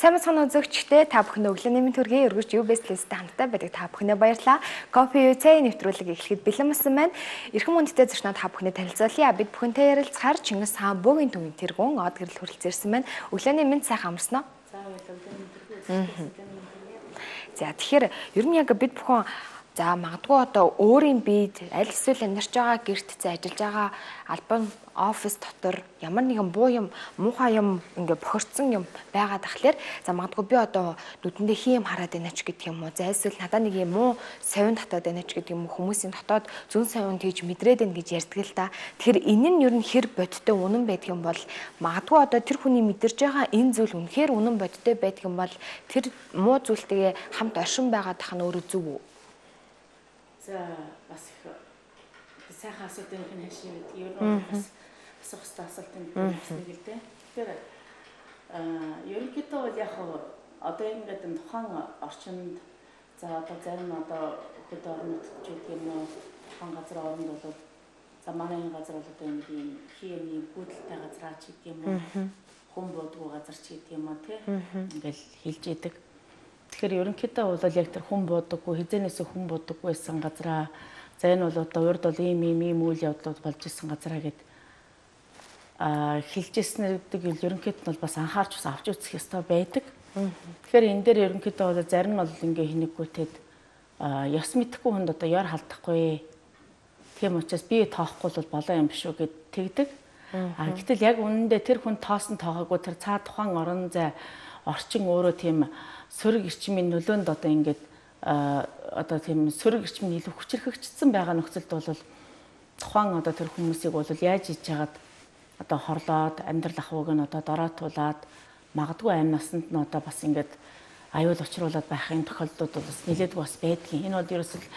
Сайн мэцхан үзэгчдээ та бүхэн өглөөний мэнд хүргэе. Өргөж UBS-тэй хамтдаа байдаг та бүхэндээ баярлалаа. Кофе UC нэвтрүүлэг эхлэхэд бэлэн болсон байна. Эрхэм хүндтэй зочноо та бүхэнд танилцуулъя. Бид бүхэнтэй ярилцахаар Чингис хаан бөөгийн төвийн тэргүүн од гэрэл хүрэлцээрсэн байна. Өглөөний мэнд сайхан амарсан уу? За тэгэхээр ер нь яг бид бүхэн за магадгүй одоо өөрийн биед аль эсвэл амьдарч байгаа гэрт ажиллаж байгаа албан офис дотор ямар нэгэн буу юм муухай юм ингээ бохирдсон юм байгаа тахлаар за магадгүй би одоо нүдэндээ хийм хараад байна ч гэдэг юм уу за эсвэл надад нэг юм муу совин татаад байна ч гэдэг юм уу хүмүүсийн дотоод зүн совин тэгж мэдрээд байна гэж ярьдаг л да. Тэгэхээр энэ нь ер нь хэр бодиттой үнэн байдаг юм бол магадгүй одоо тэр хүний мэдэрж байгаа энэ зүйл үнэхээр үнэн бодиттой байдаг юм бол тэр муу зүйлтэйгээ хамт оршин байгаа тах нь өөрөө зөв үү? За бас их сайхан асуудал юм хашиг гэдэг. Ер нь бас асуух хэвээр асуулт юм байна л дээ. Тэгэхээр ерөнхийдөө бол яг одоо ингээд энэ тухайн орчинд за одоо зарим нь одоо хөдөө орон нутгад ч гэх юм уу тухайн газар оронд бол за манай энэ газар бол одоо нэг юм химийн бүдэлтэй газар ч гэх юм уу хүн бодгүй газар ч гэх юм уу тий ингээл хэлж идэг. Тэгэхээр ерөнхийдөө бол яг тэр хүн бодоггүй хизэнээс хүн бодоггүй байсан газараа за энэ бол одоо урд бол ийм үйл явдлууд болж исэн газараа гэд хэлжсэн гэдэг ерөнхийдөө бол бас анхаарч бас авч үзэх ёстой байдаг. Тэгэхээр энэ дээр ерөнхийдөө бол зарим нь бол ингээ хинэггүйтэд ёс мэдэхгүй хүнд одоо яар халдахгүй. Тийм учраас би тоохгүй бол болоо юм биш үү гэд тэгдэг. Гэтэл яг үнэндээ тэр хүн тоосон тоогоогүй тэр цаа тухайн орон зай орчин өөрөө тийм сөрөг эрчмийн нөлөөнд одоо ингээд одоо тийм сөрөг эрчмийн илүү хүчрхэгчсэн байгаа нөхцөлд бол тухайн одоо тэр хүмүүсийг бол яаж хийж чагаад одоо хорлоод амьдрал ахуйг нь одоо дороотуулаад магадгүй амь насанд нь одоо бас ингээд аюул учруулад байхын тохиолдлууд бол бас нэлээд бас байдгийн. Энэ бол ерөөсөл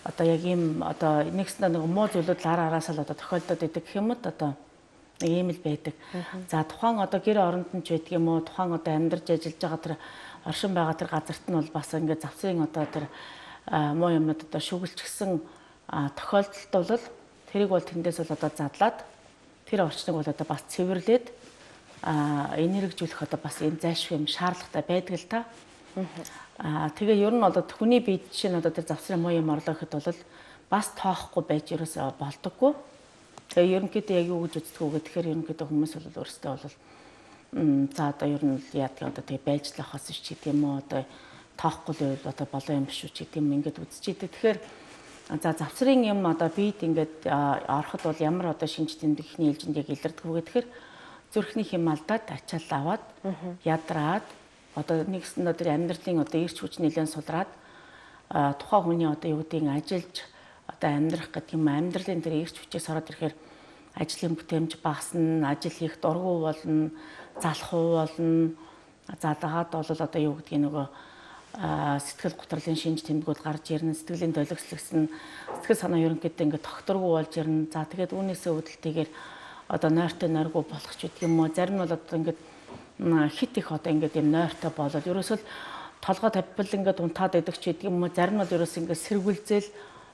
одоо яг ийм одоо нэгснээ нэг муу зүйлүүд араас л одоо тохиолдод идэг гэх юм уу одоо нэг ийм л байдаг. За тухайн одоо гэр оронд нь ч байдаг юм уу тухайн одоо амьдарч ажиллаж байгаа тэр оршин байгаа тэр газарт нь бол бас ингээд завсрын одоо тэр муу юмнууд одоо шүглчихсэн тохиолдолд бол тэрийг бол тэндээс бол одоо задлаад тэр орчныг бол одоо бас цэвэрлээд энергижүүлэх одоо бас энэ зайлшгүй юм шаардлагатай байдаг л та. Тэгээ ер нь одоо хүний бие жишээ нь одоо тэр завсрын муу юм орлоо гэхэд бол бас тоохгүй байж ерөөсөө болдоггүй. Тэгээ ерөнхийдөө яг юу гэж үздэг вэ гэхээр ерөнхийдөө хүмүүс бол өөрсдөө бол за одоо ер нь яадаг одоо тэгээ байлжлах хас ч гэдэг юм уу одоо тоохгүй л одоо болоо юм биш үү ч гэдэг юм ингээд үзчихийдэг. Тэгэхээр за завсрын юм одоо бид ингээд ороход бол ямар одоо шинж тэмдэгний ээлжинд яг илэрдэг вэ гэхээр зүрхний хэм алдаад ачаал аваад ядраад одоо нэгсэн одоо амьдралын одоо эрч хүч нэлээд сулраад тухайн хүний одоо юу гэдгийг ажиллаж одоо амьдрах гэдэг юм амьдралын тэр эрч хүчээс ороод ирэхээр ажлын бүтээмж багасна, ажил хийх дургу болно, залах уу болно. За дагаад бол одоо юу гэдгийг нөгөө сэтгэл гутралын шинж тэмдгүүд гарч ирнэ, сэтгэлийн долгислогсон, сэтгэл санаа ерөнхийдөө ингээд тогтворгүй болж ирнэ. За тэгээд үүнээсээ үүдэлтэйгээр одоо нойртой нойргүй болох ч гэдэг юм уу. Зарим нь бол одоо ингээд хит их одоо ингээд юм нойртой болол ерөөсөө толгой тавьбал ингээд унтаад идэх ч гэдэг юм уу. Зарим нь бол ерөөсөө ингээд сэргүүлзэл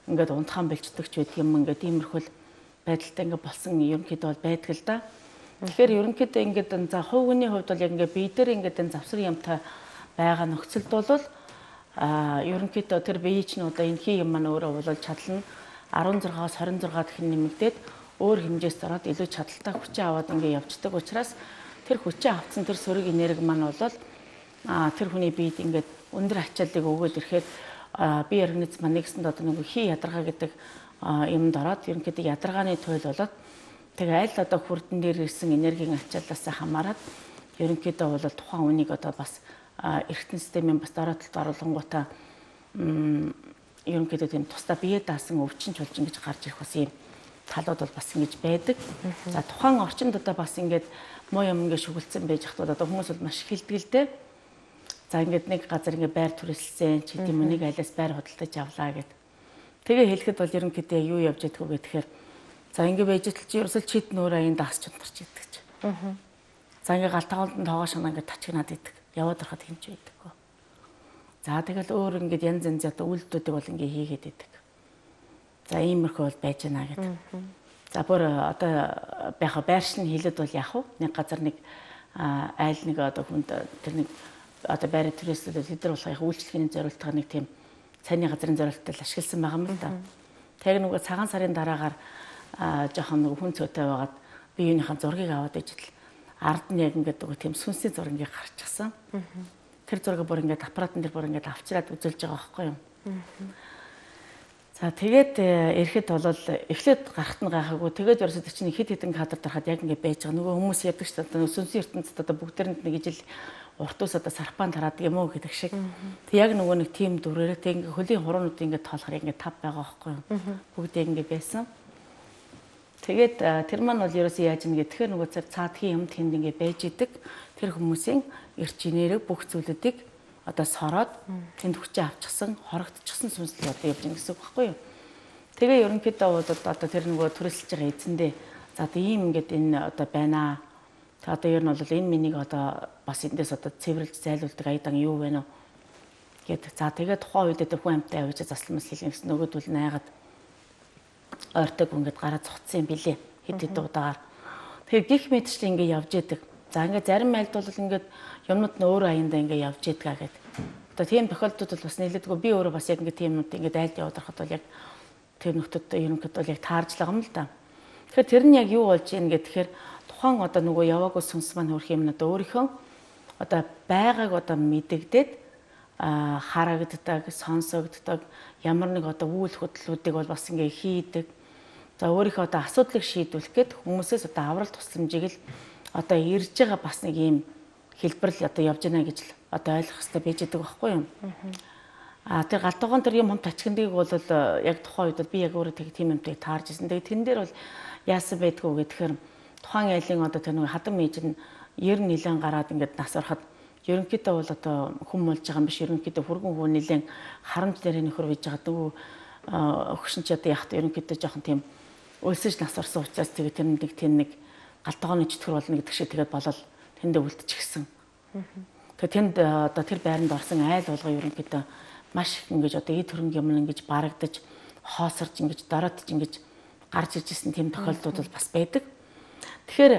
ингээд унтахан бэлждэг ч гэдэг юм ингээд иймэрхүүл байдалтай ингээд болсон ерөнхийдөө бол байдаг л да. Тэгэхээр ерөнхийдөө ингээд за хувь хүний хувьд бол яг ингээд бие дээр ингээд энэ завсрын юмтай байгаа нөхцөлд бол ерөнхийдөө тэр бие чинь одоо энэ хий юм маань өөрөө бол чадал нь 16-аас 26 дахин нэмэгдээд өөр хэмжээс ороод илүү чадaltaй хүчээ аваад ингээд явждаг учраас тэр хүчээ авсан тэр сөрөг энерги маань бол тэр хүний биед ингээд өндөр ачааллыг өгөөд ирэхэд бие организм маань нэгсэнд одоо нэг хий ядаргаа гэдэг юмд ороод ерөнхийдөө ядаргааны туйл болоод тэгээ аль одоо хүрдэн дээр ирсэн энергийн ачааллаас хамаарат ерөнхийдөө бол тухайн үнийг одоо бас эргэтэн системийн бас дороотолд оруулангуудаа ерөнхийдөө тийм тусдаа бие даасан өвчин чулжин гэж гарч ирэх бас ийм талууд бол бас ингэж байдаг. За тухайн орчинд одоо бас ингээд муу юм ингээд шүглцэн байж хахад одоо хүмүүс бол маш хилдэг л дээ. За ингээд нэг газар ингээд байр түрээсэлсэн ч гэдэм үү нэг айлаас байр худалдаж авлаа гэд. Тэгээ хэлэхэд бол ерөнхийдөө юу явж ядг вэ гэхээр за ингээд байж тал чи ерөөсөл чид нөөрэ аян даас чунтарч идэг ч. За ингээд галтгaalд нь тоогоо шанаа ингээд тачигнаад идэг. Яваад харахад хэмж байдаггүй. За тэгэл өөр ингээд янз янз одоо үйлдэлүүдийг бол ингээд хийгээд идэг. За иймэрхүү бол байж байна гэдэг. За бүр одоо байршин хэлээд бол яах вэ? Нэг газар нэг айл нэг одоо хүнд тэр нэг одоо байрны түрээслэлүүд хэдэр болох яг үйлчлэгийн зорилттой нэг тийм цайны газрын зорилттой ашигласан байгаа юм л да. Тэр нөгөө цагаан сарын дараагаар жоохон нөгөө хүн цөөтэй байгаад би юуныхаа зургийг аваад ижил ард нь яг ингээд нөгөө тийм сүнсний зураг ингээд гарчихсан. Тэр зургийг бүр ингээд аппаратын дээр бүр ингээд авчираад үзүүлж байгаа байхгүй юу. За тэгээд эрэхэд бол эхлээд гарахт нь гайхаагүй. Тэгээд ерөөсөө чинь хэд хэдэн кадр дарахад яг ингээд байж байгаа. Нөгөө хүмүүс ярьдаг шүү дээ. Сүнсний ертөнцид одоо бүгдээрэнд нэг ижил урт ус одоо сарпаан тараад юм уу гэдэг шиг. Тэг яг нөгөө нэг тим дүрээрээ тэг ингээд хөлийн хуруунууд ингээд тоолохоор ингээд тав байгаа байхгүй юу. Бүгд ингээд байсан. Тэгээд тэр маань бол ерөөсөө яаж юм гэхээр нөгөө цаадхийн юм тэнд ингээд байж идэг. Тэр хүмүүсийн эрч инээрээ бүх зүйлүүдийг одоо сороод тэнд хүчээ авчихсан, хорогдчихсан сүнслэг одоо явж байгаа гэсэн үг байхгүй юу. Тэгээ ерөнхийдөө одоо тэр нөгөө түрээсэлж байгаа эзэндээ за одоо ийм ингээд энэ одоо байна. Тэг одоо ер нь бол энэ миний одоо бас эндээс одоо цэвэрлж зайлуулдаг аядан юу вэ нэ гэд. За тэгээд тухайн үед тэр хүн амтай авч засламж хийлгэн гэсэн нөгөөдөл найгаад ойртойг ингээд гараа цуцсан юм билээ. Хэд хэд удаагаар. Тэгэхээр гих мэдчлэн ингээд явж идэг. За ингээд зарим айлд бол ингээд юмнууд нь өөр аяндаа ингээд явж идгаа гэдэг. Одоо тийм тохиолдлууд бол бас нэлээдгүй би өөрөө бас яг ингээд тийм юмнууд ингээд айлд яваад байхад бол яг тэр нөхдөд ерөнхийдөө бол яг таарж л байгаа юм л да. Тэгэхээр тэр нь яг юу болж ийн гэхээр тухайн одоо нөгөө яваагүй сүнс маань хөрх юм надаа өөрийнхөө одоо байгааг одоо мэдэгдээд харагддаг, сонсогддог ямар нэг одоо үйл хөдлөлүүдийг бол бас ингээд хийдэг. За өөрийнхөө одоо асуудлыг шийдвүүлэх гээд хүмүүсээс одоо аврал тусламжийг л одоо ирж байгаа бас нэг юм хэлбэрл одоо явж байна гэж л одоо ойлгох хэрэгтэй байж байгаа байхгүй юу. Тэр галтгоон тэр юм хомт ачгиндгийг бол яг тухайн үед би яг өөрөө тийм юмтай таарж ирсэн. Тэгээ тэн дээр бол яасан байдгүй гэхээр тухайн айлын одоо тэр нэг хадам ээж нь 90 нилэн гараад ингээд нас ороход ерөнхийдөө бол одоо хүм болж байгаа юм биш. Ерөнхийдөө хүргэн хүү нилэн харамж дээр нөхөр байж байгаа дүү өгшин ч одоо яг ерөнхийдөө жоохон тийм өлсөж нас орсон учраас тэгээ тэр нэг галтгооны чөтгөр болно гэдэг шиг тэгээд болол тэндээ үлдчихсэн. Тэгээд тэнд одоо тэр байранд орсон айл болгоо ерөнхийдөө маш их ингэж одоо эд хөрөнгө юм ингэж барагдаж хоосорж ингэж дороотж ингэж гарч иржсэн тийм тохиолдлууд бол бас байдаг. Тэгэхээр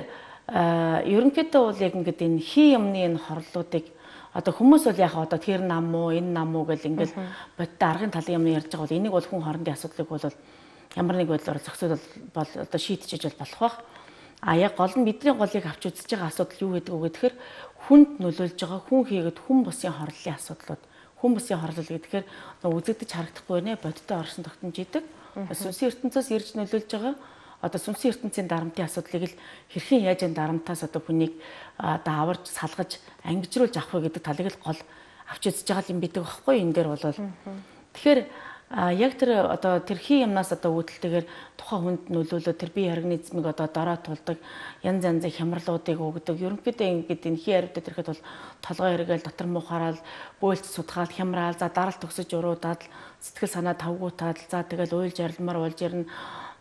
ерөнхийдөө бол яг ингэж энэ хий юмны энэ хорлолуудыг одоо хүмүүс бол яг одоо тэр нам уу энэ нам уу гэл ингээл бодтой аргын талын юм ярьж байгаа бол энийг бол хүн хоорондын асуудлыг бол ямар нэг байдлаар зохицуул бол одоо шийдчихэж болох байх. Яг гол нь бидний голыг авч үзэж байгаа асуудал юу гэдэг вэ гэхээр хүнд нөлөөлж байгаа хүн хийгээд хүн бусын хорлолын асуудлууд. Хүн бусын хорлол гэхээр үзэгдэж харагдахгүй нэ бодтой орсон тогтнож идэг. Сүнсийн ертөнцөөс ирж нөлөөлж байгаа одоо сүнсийн ертөнцийн дарамтын асуудлыг л хэрхэн яаж энэ дарамтаас одоо хүнийг даварж салгаж ангижруулж авах вэ гэдэг талыг л гол авч үзэж байгаа юм бидэг байхгүй энэ дээр бол. Тэгэхээр яг тэр одоо тэр хий юмнаас одоо үүдэлтэйгээр тухайн хүнд нөлөөлөө тэр бие организмыг одоо дорой тулдаг янз янзын хямралуудыг өгдөг. Ерөнхийдөө ингэж энэ хий аривдад ирэхэд бол толгой эргээл дотор муухаарал бөөлж судгаал хямраал за даралт төгсөж уруудаад сэтгэл санаа тавгуутаад за тэгэл уйлж арилмаар болж ирнэ.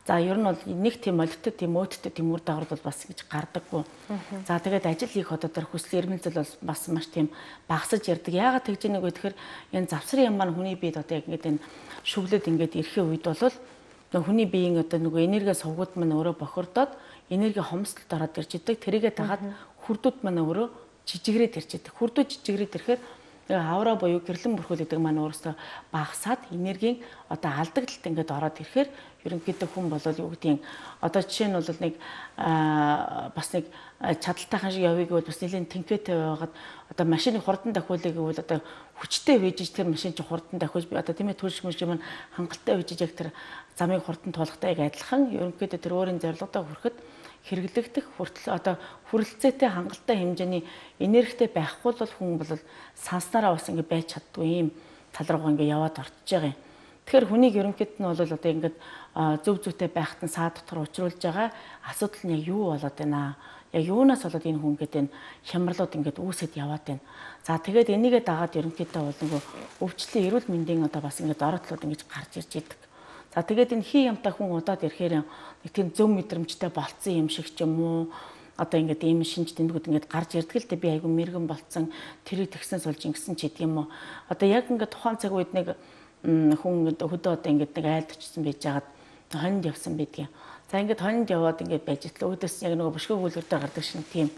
За ер нь бол нэг тийм олигтой тийм өөдтэй тийм үр дагавар бол бас ингэж гардаггүй. За тэгээд ажил хийх одоо тэр хүсэл эрмэлзэл бол бас маш тийм багасж ярддаг. Яагаад тэгж нэг вэ гэхээр энэ завсрын юм маань хүний биед одоо яг ингэж энэ шүглээд ингээд ирэхээ үед бол хүний биеийн одоо нөгөө энерги сувгууд маань өөрөө бохирдоод энерги хомсдолд ороод ирж идэг. Тэрийгэ дагаад хүрдүүд маань өөрөө жижигрээд ирж идэг. Хүрдүүд жижигрээд ирэхээр авра буюу гэрлэн бүрхүүл гэдэг маань өөрөөсөө багасаад энергийн одоо алдагдлалт ингээд ороод ирэхээр ерөнхийдөө хүн бол юу гэдгийг одоо жишээ нь бол нэг бас нэг чадалтайхан шиг явъя гэвэл бас нэлийн тэнхээтэй байгаад одоо машины хурдан дахиулъя гэвэл одоо хүчтэй вэжж тэр машин чинь хурдан дахиулж би одоо тийм ээ төрш мөш юм хангалттай вэжж яг тэр замыг хурдан туулахтай яг адилхан ерөнхийдөө тэр өөрийн зорилгодоо хүрэхэд хэрэглэгдэх хүртэл одоо хүрэлцээтэй хангалттай хэмжээний энергитэй байхгүй бол хүн бол санснараа бас ингэ байж чаддгүй юм тал руугаа ингэ яваад орчиж байгаа юм. Тэгэхээр хүнийг ерөнхийд нь бол одоо ингэ зөв зүйтэй байхад нь саа дотор учруулж байгаа асуудал нь яг юу болоод байна. Яг юунаас болоод энэ хүн гэдэг энэ хямралууд ингэ үүсэт яваад байна. За тэгээд энийгээ дагаад ерөнхийдөө бол нөгөө өвчлөлийн эрүүл мэндийн одоо бас ингэ дороотлууд ингэж гарч ирж идэг. За тэгээд энэ хий юмтай хүн удаад ирэхээр нэг тийм зөв мэдрэмжтэй болцсон юм шиг ч юм уу одоо ингээд ийм шинж тэмдгүүд ингээд гарч ирдэг л дээ би айгүй мэрэгэн болцсон тэрийг тэгснээс болж ингэсэн ч гэдэг юм уу одоо яг ингээд тухайн цаг үед нэг хүн хөдөө одоо ингээд нэг айлд очсон байж байгаад хонд явсан байдгийн. За ингээд хонд яваад ингээд байж итлээ өөдөөс яг нөгөө бөшгөө гүйлгэр дээр гардаг шин тийм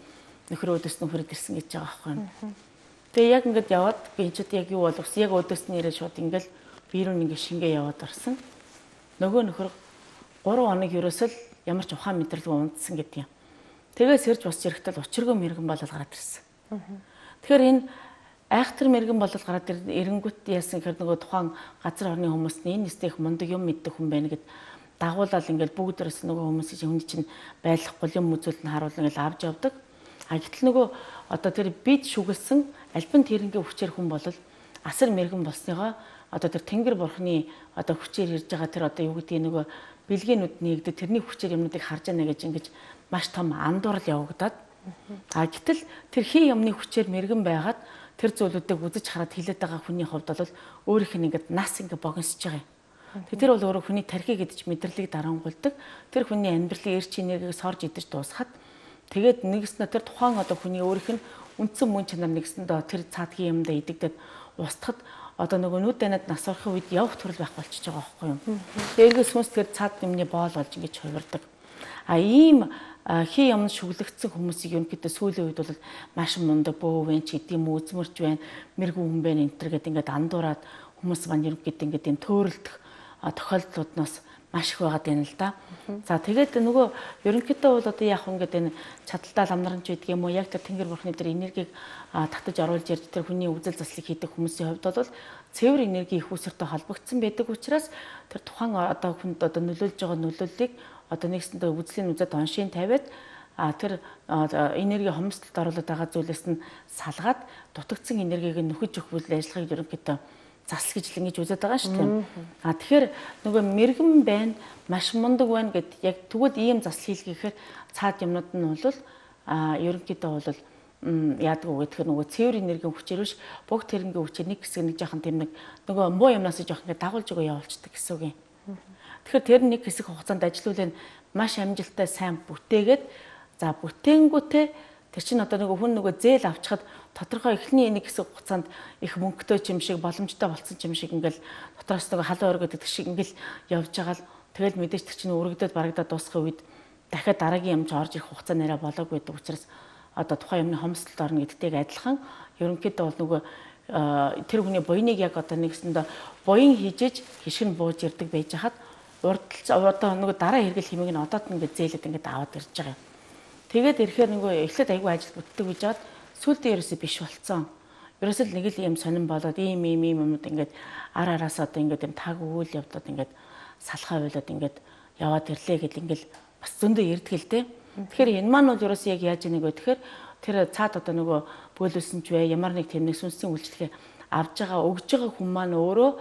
нөхөр өөдөөс нөхөрөд ирсэн гэж байгаа байхгүй юм. Тэгээ яг ингээд яваад би ч яг юу болох яг өдөөс нь ирээд шууд ингээл би рүү ингээд шингээ яваад орсон. Нөгөө нөхөр 3 хоног ерөөсөл ямар ч ухаан мэдрэлгүй унтсан гэдэг юм. Тэгээ сэрж босч ирэхдээ учиргүй мэрэгэн болол гараад ирсэн. Тэгэхээр энэ айхтар мэрэгэн болол гараад ирэнгүүт яасан гэхээр нөгөө тухайн газар орны хүмүүс нь энэ нэстэх мундаг юм мэддэг хүн байна гэд дагуулаад ингээл бүгдээрээс нөгөө хүмүүсийн хүн чинь байлахгүй юм үзүүлэлт нь харуулна ингээл авч явдаг. А гэтэл нөгөө одоо тэр бид шүглсэн альбан тэрнгийн хүчээр хүн бол асар мэрэгэн болсныгоо одоо тэр тэнгэр бурхны одоо хүчээр ирж байгаа тэр одоо юу гэдгийг нөгөө бэлгэнүүд нэгдэ тэрний хүчээр юмнуудыг харж яана гэж ингэж маш том андуурал явагдаад а гэтэл тэр хин юмны хүчээр мэрэгэн байгаад тэр зүйлүүдийг үзэж хараад хилээд байгаа хүний хувьд бол өөрийнх нь ингээд нас ингээд богиносж байгаа юм. Тэр бол өөрөө хүний тархи гэдэж мэдрэлийг дарангуулдаг. Тэр хүний амьдралын эрч энергийг сорж идэж дуусахад тэгээд нэгснэ тэр тухайн одоо хүний өөрийнх нь үндсэн мөн чанар нэгсэндээ тэр цаадгийн юмдаа идэгдээд устгахад одоо нөгөө нүд данад нас орохын үед явах төрөл байх болчихж байгаа байхгүй юу. Тэргээс хүнс тэр цаад юмны боол болж ингэж хувирдаг. А ийм хий юмд шүглэгдсэн хүмүүсийг ерөнхийдөө сүүлийн үед бол маш мундаг бөөвэн ч гэдэм үзмэрч байна, мэрэгүү хүн байна энэ төр гэдэг ингээд андуураад хүмүүс маань ерөнхийдөө ингээд энэ төөрөлдөх тохиолдлууднаас маш их байгаад байна л да. За тэгээд нөгөө ерөнхийдөө бол одоо яг ингээд энэ чадaltaа ламнаранч байдаг юм уу яг тэр тэнгэр бурхны тэр энергийг татаж оруулж ирж тэр хүний үзэл заслыг хийдэг хүмүүсийн хувьд бол цэвэр энерги их усртай холбогдсон байдаг учраас тэр тухайн одоо хүнд одоо нөлөөлж байгаа нөлөөллийг одоо нэгсэндээ үзлийн үзэд оншийн тавиад тэр энерги хомсдолд оруулаад байгаа зүйлээс нь салгаад дутагдсан энергийг нөхөж өгөх үйл ажиллагааг ерөнхийдөө засал гэж л ингэж үзээд байгаа шүү дээ. Тэгэхээр нөгөө мэрэгэн байна, маш мундаг байна гэд яг тэгвэл ийм засал хийлгэхээр цаад юмнууд нь бол ерөнхийдөө бол яадаг уу гэхээр нөгөө цэвэр энергийн хүчээр биш бүгд тэрнгийн хүчээр нэг хэсэг нэг жоохон тийм нэг нөгөө муу юмнаас жоохон ингэ дагуулж өгөө явуулцдаг гэсэн үг юм. Тэгэхээр тэр нэг хэсэг хугацаанд ажилуулын маш амжилттай сайн бүтээгээд за бүтээнгүүтээ тэр чинь одоо нөгөө хүн нөгөө зээл авчихад тодорхой эхний нэг хэсэг хугацаанд их мөнгөтэй юм шиг боломжтой болсон юм шиг ингээл дотроос нөгөө халуун өргөд гэдэг шиг ингээл явж байгаа л тэгэл мэдээж тэр чинь өргөдөд барагдаад дуусгах үед дахиад дараагийн юм ч орж ирэх хугацаа нэрэ болоогүй гэдэг учраас одоо тухайн юмны хомсдолд орно гэдэгтэйг адилхан ерөнхийдөө бол нөгөө тэр хүний буйныг яг одоо нэгсэндээ буян хийжээж хишгэн бууж ирдэг байж хаад одоо нөгөө дараа хэрэгэл хэмээг нь одоод ингээд зээлээд ингээд аваад ирж байгаа юм. Тэгээд ирэхээр нөгөө эхлээд айгүй ажил бүтдэг гэж бод сүлдээ ерөөсөө биш болцсон. Ерөөсөө л нэг л юм сонирн болоод ийм юмнууд ингээд ар араас одоо ингээд юм таг үйл явдаад ингээд салхаа байлаад ингээд яваад ирлээ гэл ингээд бас зөндөө ирдэг л дээ. Тэгэхээр энэ маань бол ерөөсөө яг яаж ийнэ гэхээр тэр цаад одоо нөгөө бөөлөсөн ч бай ямар нэг тийм нэг сүнсийн үйлчлэгээ авж байгаа өгж байгаа хүн маань өөрөө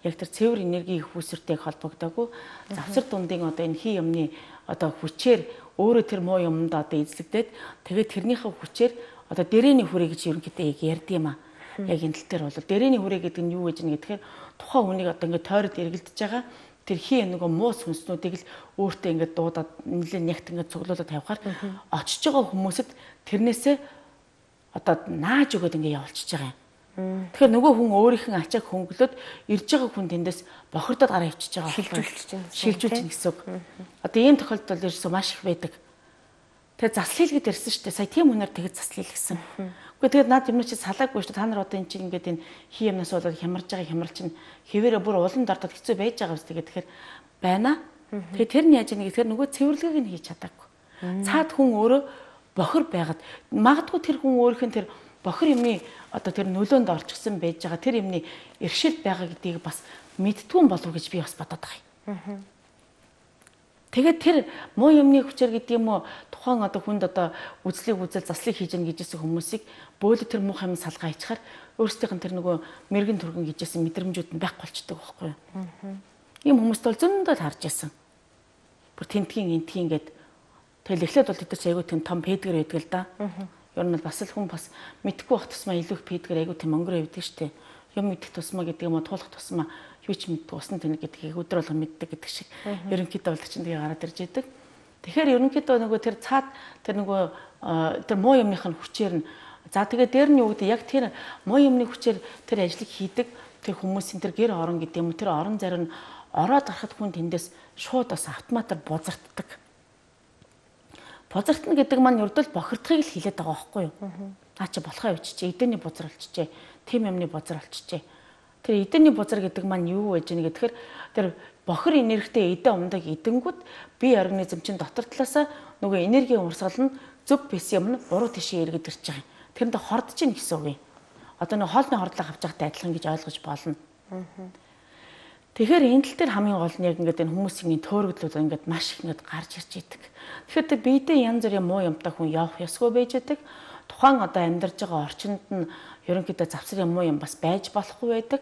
яг тэр цэвэр энерги их үсэртэйг холбогдоогүй завсар дундын одоо энэ хий юмны одоо хүчээр өөрөө тэр муу юмд одоо эзлэгдээд тэгээд тэрнийхээ хүчээр одоо дэрээний хүрээ гэж ерөнхийдөө яг ярьд юм аа. Яг энэ тал дээр бол дэрээний хүрээ гэдэг нь юу гэж нэ гэхээр тухайн хүнийг одоо ингээд тойроод эргэлдэж байгаа тэр хий нөгөө муу сүнснүүдийг л өөртөө ингээд дуудаад нэлээд нягт ингээд цуглуулад тавихаар очиж байгаа хүмүүсэд тэрнээсээ одоо нааж өгөөд ингээд явуулчихж байгаа юм. Тэгэхээр нөгөө хүн өөрийнх нь ачааг хөнгөлөд ирж байгаа хүн тэндээс бохирдоод гараа ивчиж байгаа. Шилжүүлж чинь гэсэн үг. Одоо ийм тохиолдол ерөөсөө маш их байдаг. Тэгээ заслал хийлгэд ирсэн шүү дээ. Сая тийм хүнээр тэгж заслал хийлгэсэн. Үгүй тэгээд наад юм чи салаагүй шүү дээ. Та нар одоо эн чинь ингээд энэ хий юмнаас болоод хямарж байгаа хямрал чинь хэвээрээ бүр улан дордод хэцүү байж байгаа үстэй тэгэхээр байна. Тэгээ тэр нь яаж ийнэ гэхээр нөгөө цэвэрлэгийг нь хийж чадаагүй. Цаад хүн өөрөө бохир байгаад магадгүй тэр хүн өөрийнх нь тэр бохир юмны одоо тэр нөлөөнд орчихсон байж байгаа тэр юмны иршил байгаа гэдгийг бас мэдтгүн болов гэж би бас бодоод байгаа юм. Тэгээд тэр муу юмны хүчээр гэдэг юм уу тухайн одоо хүнд одоо үзлийг үзэл заслыг хийж гэн гэжсэн хүмүүсийг бөөлө тэр муухай юм салгаа ичхаар өөрсдийнх нь тэр нөгөө мэрэгэн түргэн гэжсэн мэдрэмжүүд нь байхгүй болчдөг байхгүй юу. Ийм хүмүүст бол зөндөө харж байсан. Бүр тентгийн энтгийн гээд тэгэл эхлээд бол тэд нар айгүй тийм том пэдгэр байдаг л да. Ер нь бас л хүн бас мэдхгүй бах тусмаа илүү их пэдгэр айгүй тийм өнгөрөө явдаг штеп. Юм мэдэх тусмаа гэдэг юм уу туулах тусмаа юу ч мэддэг усны тэнэг гэдгийг өдөр болгон мэддэг гэдэг шиг ерөнхийдөө бол чинь тэгээ гараад ирж идэг. Тэгэхээр ерөнхийдөө нөгөө тэр цаад тэр нөгөө тэр муу юмных нь хүчээр нь за тэгээ дээр нь юу гэдэг яг тэр муу юмны хүчээр тэр ажлыг хийдэг тэр хүмүүсийн тэр гэр орон гэдэг юм уу тэр орон зарим нь ороод гарахад хүн тэндээс шууд бас автоматар бузарддаг. Бузартна гэдэг маань ердөө бохирдохыг л хэлээд байгаа байхгүй юу? Наа чи болохоо өвчжээ, эдэний бузар болчихжээ, тийм юмны бузар болчихжээ. Тэр эдэний бузар гэдэг маань юу вэ гэхээр тэр бохир энергитэй эдэн умдаг эдэнгүүд бие организм чинь дотор талаасаа нөгөө энергийн урсгал нь зөв бис юм нь буруу тишээ эргэж ирж байгаа юм. Тэрэнд хордож ийн гэсэн үг юм. Одоо нөгөө хоолны хордлого авч байгатай адилхан гэж ойлгож болно. Тэгэхээр энэ тал дээр хамгийн гол нь яг ингээд энэ хүмүүсийн төөрөгдлүүд ингээд маш их ингээд гарч ирж идэг. Тэгэхээр тэр биедээ янз бүрийн муу юмтай хүн явах ёсгүй байж идэг. Тухайн одоо амьдарч байгаа орчинд нь ерөнхийдөө завсар юм муу юм бас байж болохгүй байдаг.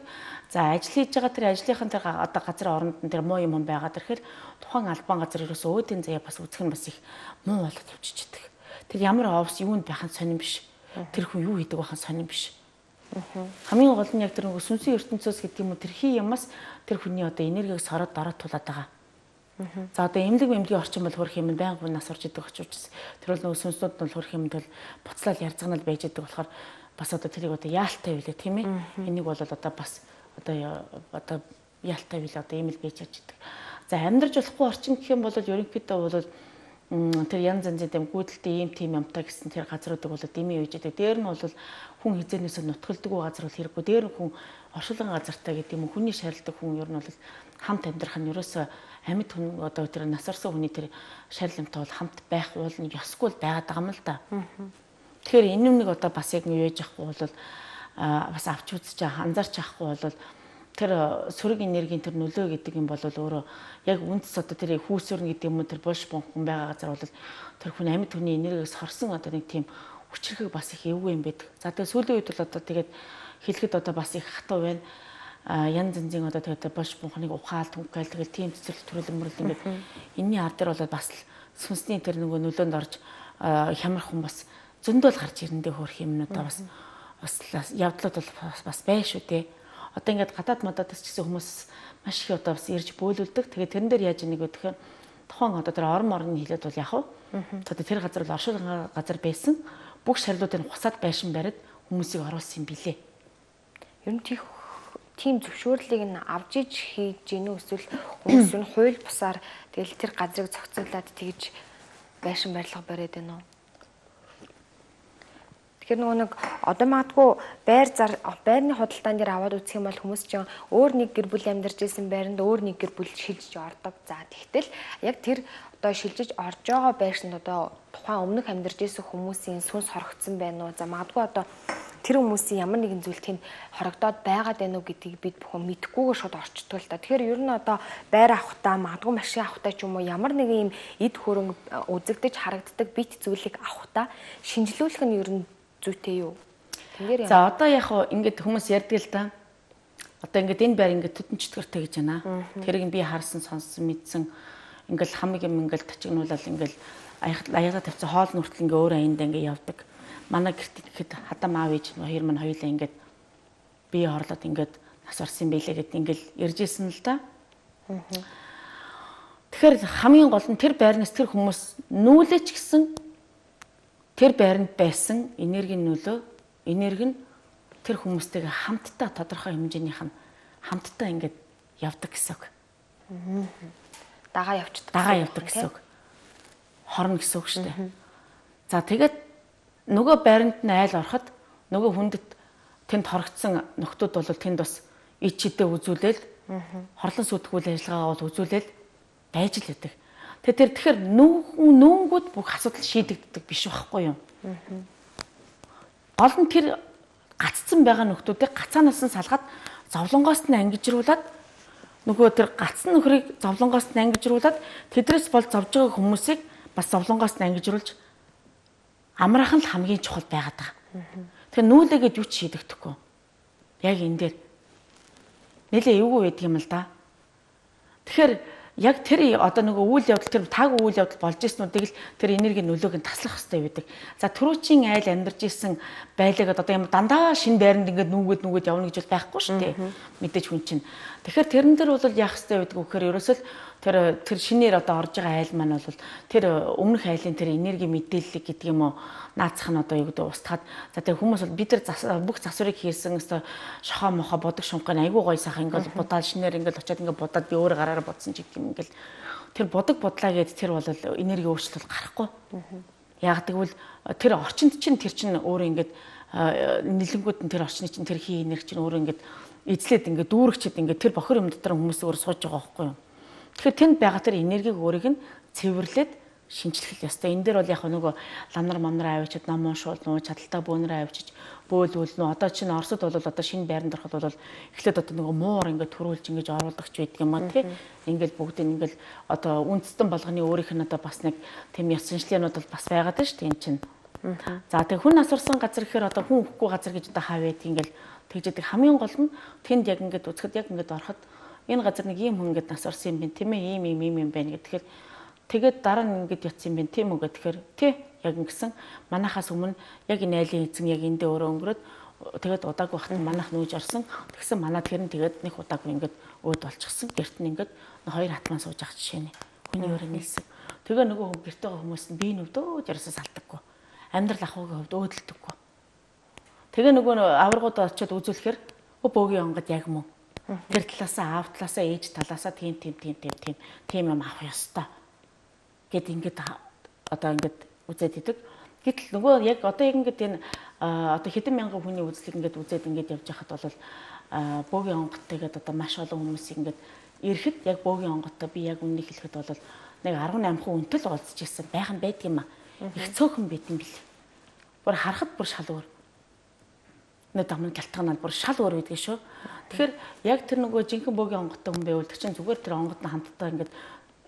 За ажил хийж байгаа тэр ажлынхан тэр одоо газар оронд нь тэр муу юм байгаа тэрхээр тухайн албан газар ерөөсөө өөдийн заяа бас үзэх нь бас их муу болоод явчихж идэг. Тэр ямар оовс юунд байхын сонирн биш. Тэр хүн юу хийдэг байхын сонирн биш. Хамгийн гол нь яг тэр нөгөө сүнсийн ертөнцөөс гэдэг юм уу тэр хий юмас тэр хүний одоо энергийг сороод дороод тулаад байгаа. За одоо эмнэлэг эмнэлгийн орчин бол хөрөх юм байнга нас орж идэг очиж тэр бол нөгөө сүнснүүд нь хөрөх юмд бол буцлал ярцганал байж идэг болохоор бас одоо тэрийг одоо яалтай билээ тийм ээ. Энийг бол одоо бас одоо яалтай билээ одоо ийм л байж идэг. За амьдарч болохгүй орчин гэх юм бол ерөнхийдөө бол тэр янз янзын дэм гүйдэлтэй ийм тийм юмтай гэсэн тэр газруудыг бол дэмий үйж идэг. Дээр нь бол хүн хизээнээс нутгалдаггүй газар бол хэрэггүй. Дээр нь хүн оршуулгын газартай гэдэг юм уу хүний шаарилдаг хүн ер нь бол хамт амьдрах нь ерөөсөө амьд хүн одоо тэр насарсан хүний тэр шаарилмтай бол хамт байх уул нь ёсгүй байгаад байгаа юм л да. Тэгэхээр энэ юмныг одоо бас яг юуж авахгүй бол бас авч үзэж анзаарч авахгүй бол тэр сөрөг энергийн тэр нөлөө гэдэг юм бол өөрөө яг үндэс одоо тэр хүүсүрн гэдэг юм уу тэр булш бонхон байгаа газар бол тэр хүн амьд хүний энергиээс хорсон одоо нэг тийм хүчрхэг бас их эвгүй юм байдаг. За тэгээ сүүлийн үед бол одоо тэгээд хэлэхэд одоо бас их хатуу байна. Янз янзын одоо тэгээд булш бонхоныг ухаал түнхэл тэгээд тийм цэцэрлэг төрөлмөрл ингээд энэний ар дээр бол бас сүнсний тэр нөгөө нөлөөнд орж хямрах хүн бас зөндөл гарч ирэндээ хөөх юмнуудаа бас явдлууд бол бас бай шүү дээ. Одоо ингээд гадаад модоодс ч гэсэн хүмүүс маш их одоо бас ирж бөөлүүлдэг. Тэгээд тэрэн дээр яаж нэг өгөх юм тухайн одоо тэр орны хилээд бол яг одоо тэр газар бол оршуулгын газар байсан. Бүх шарлуудыг хусаад байшин бариад хүмүүсийг оруулсан юм билээ. Ер нь тийм зөвшөөрлийг нь авж иж хийж гинүү эсвэл хүмүүс нь хууль бусаар тэгэл тэр газрыг зохицуулаад тэгж байшин барилга бариад байна уу? Тэгэхээр нөгөө нэг одоо магадгүй байрны худалдаан дээр аваад үзэх юм бол хүмүүс чинь өөр нэг гэр бүл амьдарч исэн байранд өөр нэг гэр бүл шилжиж ордог. За тэгтэл яг тэр одоо шилжиж орж байгаа байшинд одоо тухайн өмнөх амьдарч исэн хүмүүсийн сүнс хорогдсон байна уу? За магадгүй одоо тэр хүмүүсийн ямар нэгэн зүйл тэнд хорогдоод байгаад байна уу гэдгийг бид бүхэн мэдэхгүйгээр шууд орчдөг л та. Тэгэхээр ер нь одоо байр авахтаа магадгүй машин авахтаа ч юм уу ямар нэгэн юм эд хөрөнгө үзэгдэж харагддаг бит зүйлийг авахтаа шинжилүүлэх нь ер нь зүйтэй юу? За одоо яг ингээд хүмүүс ярьдаг л да. Одоо ингээд энэ байр ингээд төдөн чөтгөртэй гэж байна. Тэрийг би харсан, сонссон, мэдсэн. Ингээд хамаг юм ингээд тачигнуулаад ингээд аяга тавьсан хоол нүртэл ингээд өөр аянд ингээд явдаг. Манай гэрт ихэд хадам аав ээж хоёр маань хоёулаа ингээд бие хорлоод ингээд нас орсон байлээ гэд ингээд иржсэн л да. Тэгэхээр хамгийн гол нь тэр байрнаас тэр хүмүүс нүүлээч гэсэн тэр байранд байсан энергийн нөлөө, энерги нь тэр хүмүүстэйгээ хамтдаа тодорхой хэмжээнийх нь хамтдаа ингээд явдаг гэсэн үг. Дагаа явдаг. Дагаа явдаг гэсэн үг. Хорно гэсэн үг шүү дээ. За тэгээд нөгөө байранд нь айл ороход нөгөө хүндэт тэнд хорогдсон нөхдүүд бол тэнд бас ид чидээ үзүүлээл хорлон сүйтгэл ажиллагаагаа бол үзүүлээл байж л байдаг. Тэгэхээр нүүнгүүд бүх асуудал шийдэгддэг биш байхгүй юу? Гол нь тэр гаццсан байгаа нөхдүүдийг гацаанаас нь салгаад зовлонгоос нь ангижруулад нөгөө тэр гацсан нөхрийг зовлонгоос нь ангижруулад тэдрээс бол зовж байгаа хүмүүсийг бас зовлонгоос нь ангижруулж амраах нь л хамгийн чухал байгаад байгаа. Тэгэхээр нүүлээгээд юу ч шийдэгдэхгүй. Яг энэ дээр нэлээ эвгүй байдаг юм л да. Тэгэхээр яг тэр одоо нөгөө үйл явдал тэр таагүй үйл явдал болж ирснүүдийг л тэр энергийн нөлөөг нь таслах хэрэгтэй байдаг. За түрүүчийн айл амьдарч ирсэн байлаг одоо юм дандаа шин байранд ингээд нүгэд явна гэж бол байхгүй шүү дээ. Мэдээж хүн чинь. Тэгэхээр тэрэн дээр бол яах хэрэгтэй байдаг вэ гэхээр ерөөсөө тэр шинээр одоо орж байгаа айл маань бол тэр өмнөх айлын тэр энерги мэдээлэл гэдэг юм уу наацах нь одоо юу гэдэг устгаад за тэр хүмүүс бол бид нар бүх засварыг хийсэн өстой шохоо мохоо бодог шунхын айгуу гоё сайхан ингээд будаад шинээр ингээд очиод ингээд будаад би өөр гараараа бодсон ч гэх юм ингээд тэр бодог бодлаа гэд тэр бол энерги өөрчлөлт гарахгүй. Яг тэгвэл тэр орчинд чинь тэр чинь өөр ингээд нэлэнгүүд нь тэр орчны чинь тэр хий энерги чинь өөр ингээд эзлээд ингээд дүүрэгчэд ингээд тэр бохир юм дотор хүмүүс өөр сууж байгаа байхгүй юу. Тэгэхээр тэнд байгаа тэр энергийг өөрийг нь цэвэрлээд шинжлэх ёстой. Энэ дээр бол яг нөгөө ламнар мамнар авчиад ном уншуул нуу чадaltaа бөөнөр авчиж бөөлвөл нөө одоо чинь Оросд бол одоо шинэ байранд ороход бол эхлээд одоо нөгөө муур ингээд төрүүлж ингээд оруулагч байдаг юм аа тий. Ингээд бүгд ингээд одоо үндэстэн болгоны өөрийнх нь одоо бас нэг тийм ёс шинжлээнүүд бол бас байгаад байна шүү дээ энэ чинь. За тэг хүн асурсан газар гэхээр одоо хүн өгөхгүй газар гэж одоо хаа байдаг ингээд тэгждэг хамгийн гол нь тэнд яг ингээд үзэхэд яг ингээд ороход энэ газар нэг ийм хүн ингээд насурсан юм байна тийм ээ ийм байна гэхээр тэгээд дараа нь ингээд ятсан юм байна тийм үү гэхээр тий яг ингэсэн манахаас өмнө яг энэ айлын эзэн яг эндээ өөрөө өнгөрөөд тэгээд удаагүй хат манах нүүж орсон тэгсэн манаа тэр нь тэгээд нэг удаагүй ингээд өөд болчихсон гэрт нь ингээд хоёр хатман сууж ах жишээ нэ хүний өөрөө нийлсэн тэгээ нөгөө гэрт байгаа хүмүүс нь бие нүдөө ярсаа салтаггүй амьдрал ахуйгийн хувьд өөдөлдөггүй тэгээ нөгөө аваргууд очиод үзүүлэхээр бөөгийн онгод яг мөн тэр талаасаа аав талаасаа ээж талаасаа тийм юм авах ёстой гэд ингээд одоо ингээд үзээд идэг. Гэтэл нөгөө яг одоо яг ингээд энэ одоо хэдэн мянган хүний үзлийг ингээд үзээд ингээд явж байхад бол бөөгийн онгодтойгээд одоо маш олон хүмүүс ингээд ирэхэд яг бөөгийн онгодтой би яг үннийг хэлэхэд бол нэг 18% үнэтэл олзж ирсэн байх нь байдаг юм аа. Их цөөхөн байт юм бил. Бүр харахад бүр шал өөр. Нэг дамын гялтган бол бүр шал өөр байдаг шүү. Тэгэхээр яг тэр нөгөө жинхэнэ бөөгийн онгодтой хүн байвал тэр чинь зүгээр тэр онгод нь хамтдаа ингээд